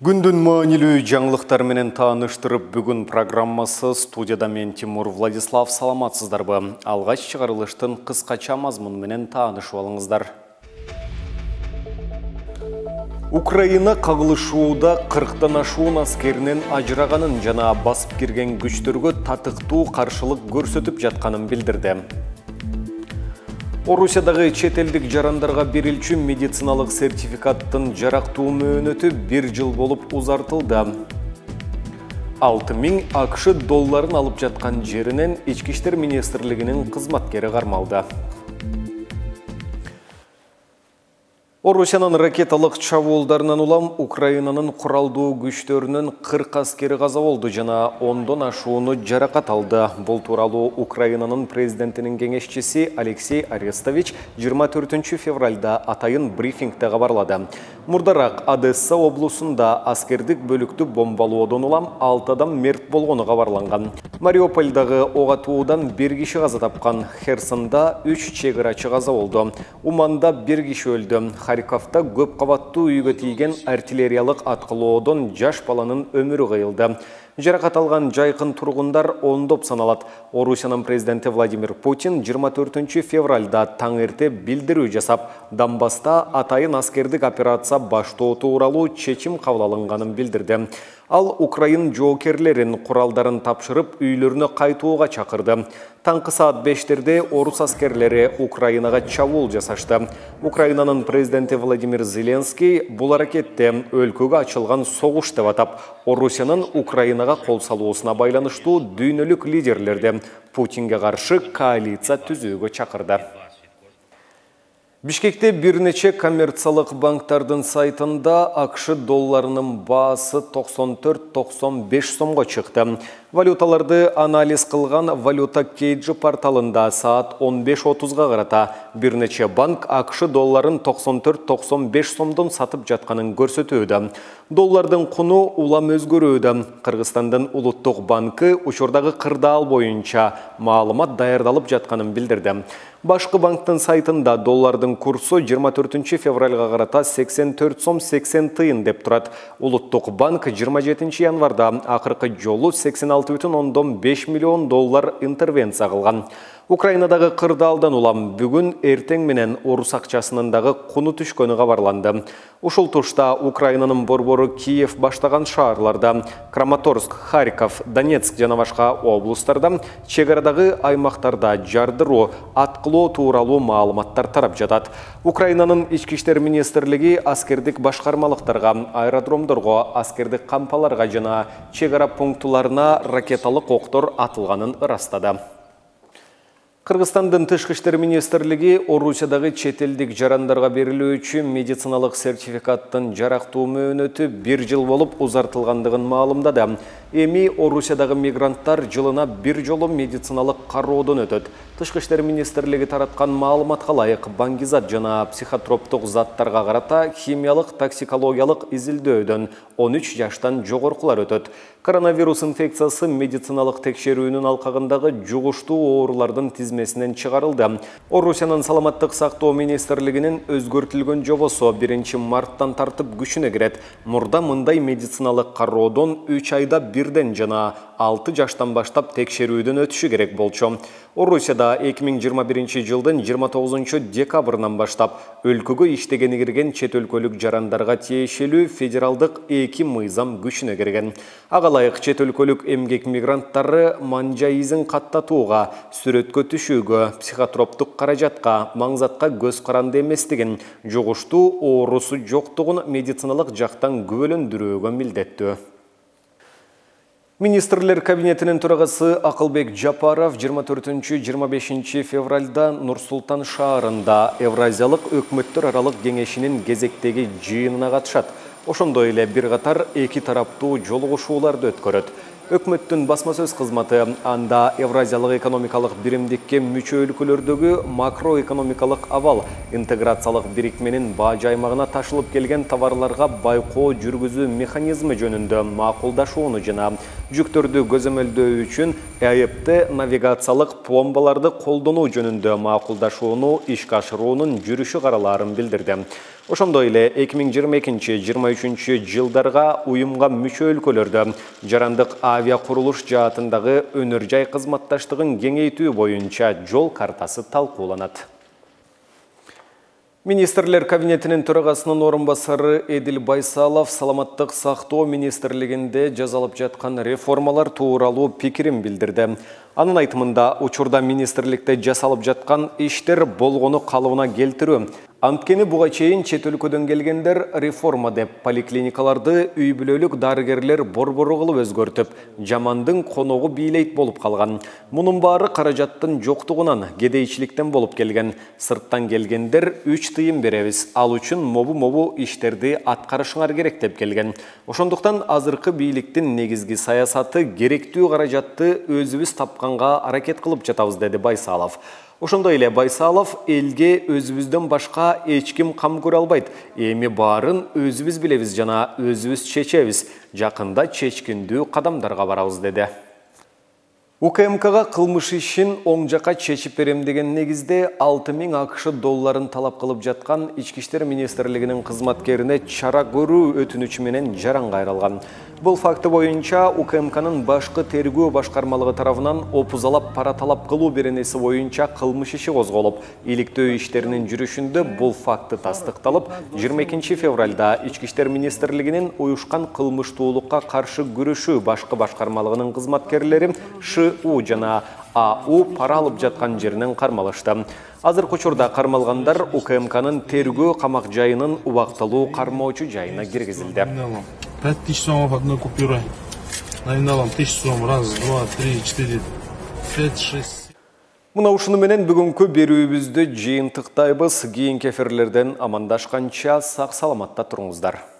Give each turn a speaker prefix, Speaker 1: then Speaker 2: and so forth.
Speaker 1: Күндүн маанилүү жаңылыктар менен тааныштырып, бүгүн программасы студияда мен Тимур Владислав. Саламатсыздарбы? Алгач чыгарылыштын кыскача мазмуну менен таанышып алыңыздар. Украина кагылышууда 40тан ашуун аскеринин ажыраганын жана басып кирген күчтөргө татыктуу каршылык көрсөтүп жатканын билдирди. Орусиядагы чет элдик жарандарга берилчү медициналык сертификаттын жарактуу мөөнөтү 1 жыл болуп узартылды. 6000 АКШ долларын алып жаткан жеринен Ички иштер министрлигинин кызматкери кармалды. Орусиянын ракеталык чабуулдарынан улам Украинанын куралдуу күчтөрүнүн 40 аскери каза болду жана 10дон ашууну жаракат алды. Бул тууралуу Украинанын президентинин кеңешчиси Алексей Арестович 24 февралда атайын брифингде кабарлады. Мурдараак Одесса облусунда аскердик бөлүктү бомбалоодон улам 6 адам мерт болгону кабарланган. Мариупольдагы ок атуудан 1 киши каза тапкан. Херсонда 3 чек-арачы каза болду. Уманда 1 киши өлдү. Харьковда көп кабаттуу үйгө тийген артиллериялык аткылоодон жаш баланын өмүрү кыйылды. Жаракат алган жайкын тургундар ондоп саналат. Орусиянын президенти Владимир Путин 24 февралда таң эрте билдирүү жасап, Донбасста атайын аскердик операция баштоо тууралуу чечим кабыл алынганын билдирди. Ал Украин жоокерлерин куралдарын тапшырып, үйлөрүнө кайтууга чакырды. Таңкы саат 5-терде орус аскерлери Украинага чабуул жасашты. Украинанын президенти Владимир Зеленский бул аракетте өлкөгө ачылган согуш деп атап, Орусиянын Украинага кол салуусуна байланыштуу дүйнөлүк лидерлерди Путинге каршы коалиция түзүүгө чакырды. Бишкекте бир нече коммерциялык банктардын сайтында АКШ долларынын баасы 94-95 сомго чыкты. Валюталарды анализ кылган Валюта Кейджи порталында саат 15:30-га карата бир нече банк АКШ долларын 94-95 сомдон сатып жатканын көрсөтүүдө. Доллардын куну улам өзгөрүүдө. Кыргызстандын улуттук банкы учурдагы кырдаал боюнча маалымат даярдалып жатканын билдирди. Башкы банктын сайтында доллардын курсу 24 февралга карата 84 сом 80 тыйын деп турат. Улуттук банк 27 январда акыркы жолу 86,5 миллион доллар интервенция кылган. Украинадагы кырдаалдан улам бүгүн эртең менен орус акчасынын дагы куну түшкөнү кабарланды. Ушул тушта Украинанын борбору Киев баштаган шаарларда Краматорск, Харьков, Донецк жана башка облустарда чек-арадагы аймактарда жардыруу, аткылоо тууралуу маалыматтар тарап жатат. Украинанын Ички иштер министрлиги аскердик башкармалыктарга, аэродромдорго, аскердик кампаларга жана чек-ара пунктуларына ракеталык октор атылганын ырастады. Кыргызстандын Тышкы иштер министрлиги Орусиядагы чет элдик жарандарга берилүүчү медициналык сертификаттын жарактуу мөөнөтү 1 жыл болуп узартылгандыгын маалымдады. Эми Орусиядагы мигранттар жылына 1 жолу медициналык кароодон өтөт. Тышкы иштер министрлиги тараткан маалыматка ылайык баңгизат жана психотроптук заттарга карата химиялык токсикологиялык изилдөөдөн 13 жаштан жогоркулар өтөт. Коронавирус инфекциясы медициналык текшерүүнүн алкагындагы жугуштуу оорулардын тизмесинен чыгарылды. Орусиянын саламаттык сактоо министрлигинин өзгөртүлгөн жобосу 1 марттан тартып күчүнө кирет. Мурда мындай медициналык кароодон 3 айда бирден жана 6 жаштан баштап текшерүүдөн өтүшү керек болчу. Орусияда 2021 жылдын 29 декабрынан баштап өлкөгө иштегени кирген чет өлкөлүк жарандарга тиешелүү федералдык 2 мыйзам күчүнө кирген. Ага ылайык чет өлкөлүк эмгек мигранттары манжа изин каттатууга, сүрөткө түшүүгө, психотроптук каражатка, маңзатка көз каранды эместигин, жугуштуу оорусу жоктугун медициналык жактан күбөлөндүрүүгө милдеттүү. Министрлер кабинетинин төрагасы Акылбек Жапаров 24-25 февралда Нур-Султан шаарында Евразиялык өкмөттөр аралык кеңешинин кезектеги жыйынына катышат. Ошондой эле бир катар эки тараптуу жолугушууларды өткөрөт. Өкмөттүн басма сөз кызматы анда Евразиялык экономикалык биримдикке мүчө өлкөлөрдөгү макроэкономикалык абал, интеграциялык бирикменин бажы аймагына ташылып келген товарларга байкоо жүргүзүү механизми жөнүндө макулдашууну жана жүктөрдү көзөмөлдөө үчүн АЭПТ навигациялык пломбаларды колдонуу жөнүндө макулдашууну ишке ашыруунун жүрүшү каралаарын билдирди. Ошондой эле 2022-23 жылдарга уюмга мүчө өлкөлөрдө жарандык авиа курулуш жаатындагы өнөр жай кызматташтыгын кеңейтүү боюнча жол картасы талкууланат. Министрлер кабинетинин төрагасынын орун басары Эдил Байсалов саламаттык сактоо министрлигинде жасалып жаткан реформалар тууралуу пикирин билдирди. Анын айтымында, учурда министрликте жасалып жаткан иштер болгону калыбына келтирүү. Анткени буга чейин чет өлкөдөн келгендер реформа деп поликлиникаларды үй бүлөлүк дарыгерлер борбору кылып өзгөртүп, жамандын коногу бийлейт болуп калган. Мунун баары каражаттын жоктугунан, кедейчиликтен болуп келген. Сырттан келгендер 3 тыйын беребиз, ал үчүн мобу иштерди аткарышыңар керек деп келген. Ошондуктан азыркы бийликтин негизги саясаты керектүү каражатты өзүбүз тапканга аракет кылып жатабыз, деди Байсалов. Ошондой эле Байсалов элге өзүбүздөн башка эч ким кам көрө албайт. Эми баарын өзүбүз билебиз жана өзүбүз чечебиз. Жакында чечкиндүү кадамдарга барабыз, деди. УКМКга кылмыш ишин оң жака чечип берем деген негизде 6000 АКШ долларын талап кылып жаткан Ички иштер министрлигинин кызматкерине чара көрүү өтүнүчү менен жаран кайрылган. Бул факты боюнча УКМКнын башкы тергөө башкармалыгы тарабынан опузалап пара талап кылуу беренеси боюнча кылмыш иши козголуп, иликтөө иштеринин жүрүшүндө бул факты тастыкталып, 22 февралда Ички иштер министрлигинин уюшкан кылмыштуулукка каршы күрөшүү башкы башкармалыгынын кызматкерлери ШУ жана АУ пара алып жаткан жеринен кармалышты. Азыркы учурда кармалгандар УКМКнын тергөө камак жайынын убактылуу кармоочу жайына киргизилди.
Speaker 2: 5000 сомов одной купюрой. Номиналом 1000 сом. Раз, два, три, четыре, пять, шесть.
Speaker 1: Мына ушуну менен бүгүнкү берүүбүздү жыйынтыктайбыз. Кийинки эфирлерден амандашканча сак саламатта туруңуздар.